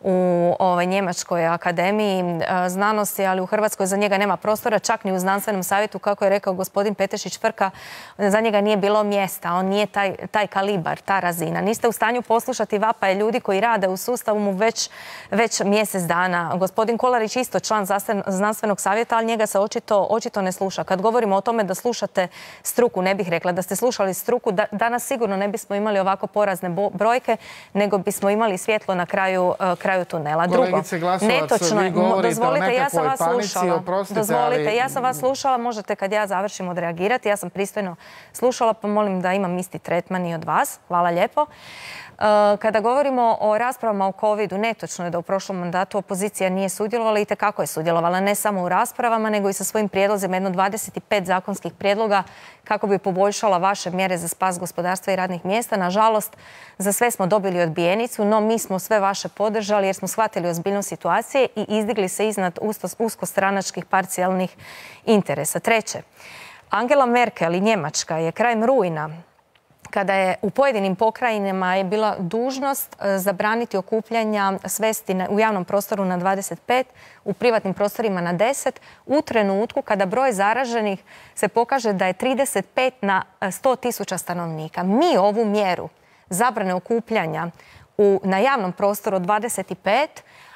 u Njemačkoj akademiji znanosti, ali u Hrvatskoj za njega nema prostora, čak ni u znanstvenom savjetu, kako je rekao gospodin Petešić-Frka, za njega nije bilo mjesta, on nije taj kalibar, ta razina. Niste u stanju poslušati vapaje ljudi koji rade u sustavu mu već mjesec dana. Gospodin Kolarić isto član znanstvenog savjeta, ali njega se očito ne sluša. Kad govorimo o tome da slušate struku, ne bih rekla da ste slušali struku, danas sigurno ne bismo imali ovako porazne brojke, nego bismo imali svjetlo na kraju tunela. Drugo, netočno je, dozvolite, ja sam vas slušala. Dozvolite, ja sam vas slušala, možete kad ja završim odreagirati. Ja sam pristojno slušala, pa molim da imam isti tretman i od vas. Hvala lijepo. Kada govorimo o raspravama o COVID-u, netočno je da u prošlom mandatu opozicija nije sudjelovala i itekako je sudjelovala, ne samo u raspravama, nego i sa svojim prijedlozima, jedno 25 zakonskih prijedloga kako bi poboljšala vaše mjere za spas gospodarstva i radnih mjesta. Nažalost, za sve smo dobili odbijenicu, no mi smo sve vaše podržali reagirali jer smo shvatili ozbiljnost situacije i izdigli se iznad uskostranačkih parcijalnih interesa. Treće, Angela Merkel i Njemačka je krajem rujna, kada je u pojedinim pokrajinama je bila dužnost zabraniti okupljanja, svesti u javnom prostoru na 25, u privatnim prostorima na 10, u trenutku kada broj zaraženih se pokaže da je 35 na 100.000 stanovnika. Mi ovu mjeru zabrane okupljanja na javnom prostoru od 25,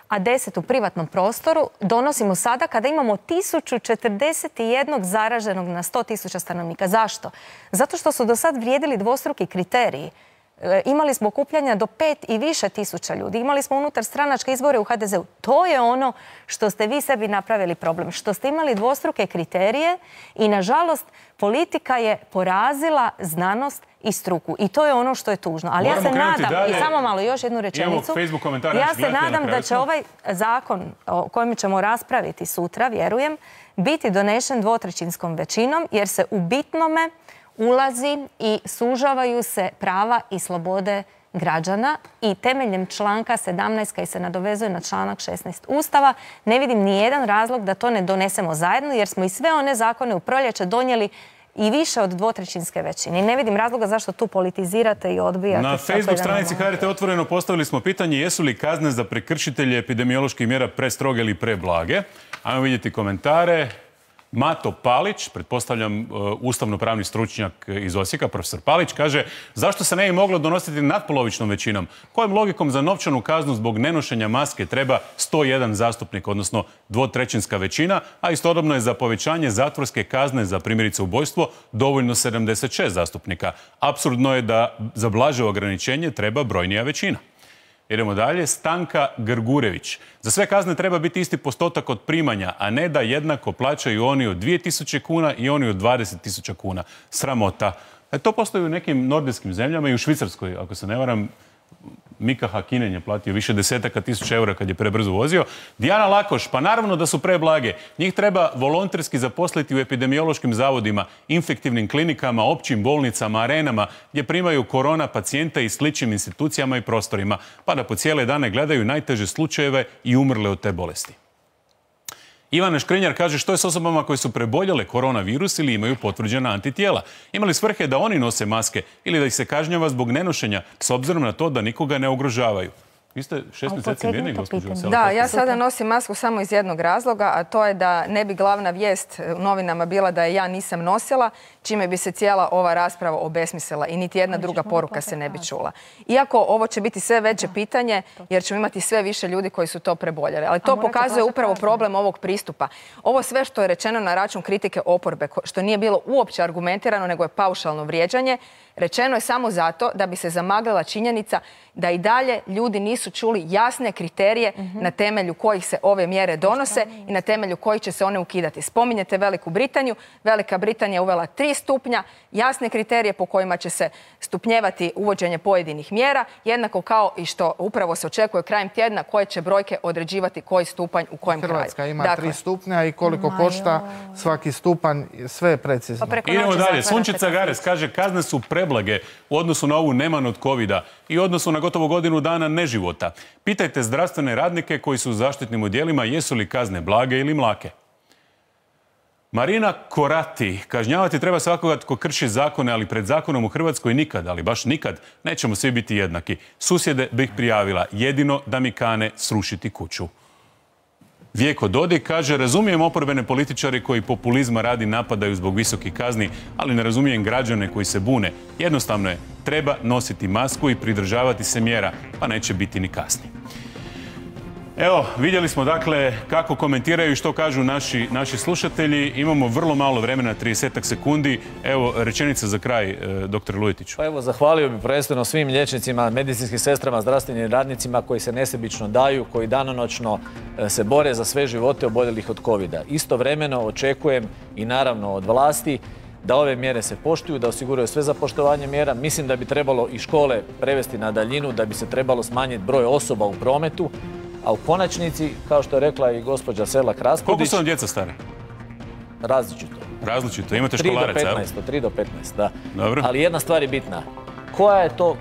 a 10 u privatnom prostoru donosimo sada kada imamo 1041 zaraženog na 100.000 stanovnika. Zašto? Zato što su do sad vrijedili dvostruki kriteriji. Imali smo okupljanja do 5 i više tisuća ljudi. Imali smo unutar stranačke izbore u HDZ-u. To je ono što ste vi sebi napravili problem. Što ste imali dvostruke kriterije i, nažalost, politika je porazila znanost i struku. I to je ono što je tužno. Ali ja se nadam, i samo malo još jednu rečenicu, ja se nadam da će ovaj zakon o kojem ćemo raspraviti sutra, vjerujem, biti donešen dvotrećinskom većinom, jer se u bitnome ulazi i sužavaju se prava i slobode građana i temeljem članka 17 koji se nadovezuje na članak 16 Ustava ne vidim ni jedan razlog da to ne donesemo zajedno, jer smo i sve one zakone u proljeće donijeli i više od dvotrećinske većine. I ne vidim razloga zašto tu politizirate i odbijate. Na Facebook stranici HRT Otvoreno postavili smo pitanje jesu li kazne za prekršitelje epidemioloških mjera prestroge ili preblage. Ajmo vidjeti komentare. Mato Palić, pretpostavljam ustavno-pravni stručnjak iz Osijeka, profesor Palić, kaže zašto se ne bi moglo donositi nadpolovičnom većinom? Kojom logikom za novčanu kaznu zbog nenošenja maske treba 101 zastupnik, odnosno dvotrećinska većina, a istodobno je za povećanje zatvorske kazne za primjerice ubojstvo dovoljno 76 zastupnika. Apsurdno je da za blaže ograničenje treba brojnija većina. Idemo dalje. Stanka Grgurević. Za sve kazne treba biti isti postotak od primanja, a ne da jednako plaćaju oni od 2000 kuna i oni od 20.000 kuna. Sramota. To postoji u nekim nordijskim zemljama i u Švicarskoj, ako se ne varam. Mika Hakinen je platio više desetaka tisuća eura kad je prebrzo vozio. Dijana Lakoš, pa naravno da su preblage. Njih treba volonterski zaposliti u epidemiološkim zavodima, infektivnim klinikama, općim bolnicama, arenama, gdje primaju korona pacijente i sličnim institucijama i prostorima, pa da po cijele dane gledaju najteže slučajeve i umrle od te bolesti. Ivana Škrinjar kaže što je s osobama koje su preboljele koronavirus ili imaju potvrđena antitijela. Ima li svrhe da oni nose maske ili da ih se kažnjava zbog nenošenja s obzirom na to da nikoga ne ugrožavaju? Vi ste 6 mjeseci mirni, gospođo Veselko. Da, ja sada nosim masku samo iz jednog razloga, a to je da ne bi glavna vijest u novinama bila da je ja nisam nosila, čime bi se cijela ova rasprava obesmislila i niti jedna druga poruka se ne bi čula. Iako ovo će biti sve veće pitanje, jer ćemo imati sve više ljudi koji su to preboljeli. Ali to pokazuje upravo problem ovog pristupa. Ovo sve što je rečeno na račun kritike oporbe, što nije bilo uopće argumentirano, nego je paušalno vrijeđanje, rečeno je samo zato da bi se zamaglila činjenica da i dalje ljudi nisu čuli jasne kriterije na temelju kojih se ove mjere donose i na temelju kojih će se one ukidati. Spominjete Veliku Britaniju. Velika Britanija je uvela 3 stupnja, jasne kriterije po kojima će se stupnjevati uvođenje pojedinih mjera, jednako kao i što upravo se očekuje krajem tjedna koje će brojke određivati koji stupanj u kojem kraju. Hrvatska ima 3 stupnja i koliko košta svaki stupanj, sve je precizno. Idemo dalje. Sunčica Gares kaže kazne su preblage u odnosu na ovu neman od covida i u odnosu na gotovo godinu dana neživota. Pitajte zdravstvene radnike koji su u zaštitnim odjelima jesu li kazne blage ili mlake. Marina Korati, kažnjavati treba svakoga tko krši zakone, ali pred zakonom u Hrvatskoj nikad, ali baš nikad, nećemo svi biti jednaki. Susjede bih prijavila, jedino da mi kane srušiti kuću. Vjeko Dodik kaže, razumijem oporbene političare koji populizma radi napadaju zbog visokih kazni, ali ne razumijem građane koji se bune. Jednostavno je, treba nositi masku i pridržavati se mjera, pa neće biti ni kazni. Evo, vidjeli smo dakle kako komentiraju i što kažu naši slušatelji. Imamo vrlo malo vremena, 30 sekundi. Evo, rečenica za kraj, dr. Lujetiću. Pa evo, zahvalio bih prvenstveno svim liječnicima, medicinskim sestrama, zdravstvenim radnicima koji se nesebično daju, koji danonoćno se bore za sve živote oboljelih od covida. Istovremeno očekujem i naravno od vlasti da ove mjere se poštuju, da osiguraju sve za poštovanje mjera. Mislim da bi trebalo i škole prevesti na daljinu, da bi se trebalo smanjiti broj osoba u prometu. A u konačnici, kao što je rekla i gospođa Selak Raspudić... Koliko su vam djeca stare? Različito. Različito? Imate školaraca, evo? 3 do 15, da. Dobro. Ali jedna stvar je bitna.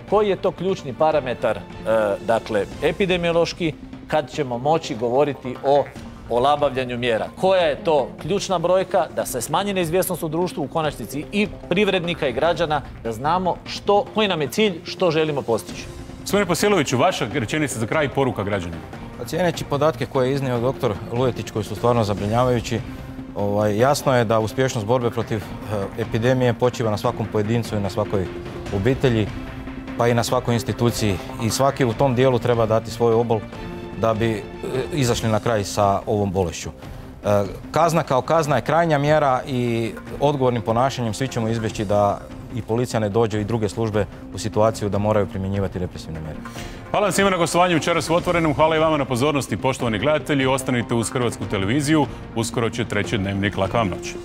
Koji je to ključni parametar, dakle, epidemiološki kad ćemo moći govoriti o olabavljanju mjera. Koja je to ključna brojka da se smanji neizvjesnost u društvu, u konačnici i privrednika i građana, da znamo koji nam je cilj, što želimo postići. Gospodine Posiloviću, vaša rečenica za kraj i poruka građanima. Cijeneći podatke koje je iznio doktor Lujetić, koji su stvarno zabrinjavajući, jasno je da uspješnost borbe protiv epidemije počiva na svakom pojedincu i na svakoj obitelji, pa i na svakoj instituciji. I svaki u tom dijelu treba dati svoj obol da bi izašli na kraj sa ovom bolešću. Kazna kao kazna je krajnja mjera i odgovornim ponašanjem svi ćemo izbjeći da i policija ne dođe i druge službe u situaciju da moraju primjenjivati represivne mjere. Hvala vam svima na gostovanju večeras u Otvorenom. Hvala i vama na pozornosti, poštovani gledatelji. Ostanite uz Hrvatsku televiziju. Uskoro će treći Dnevnik. Laka vam noć.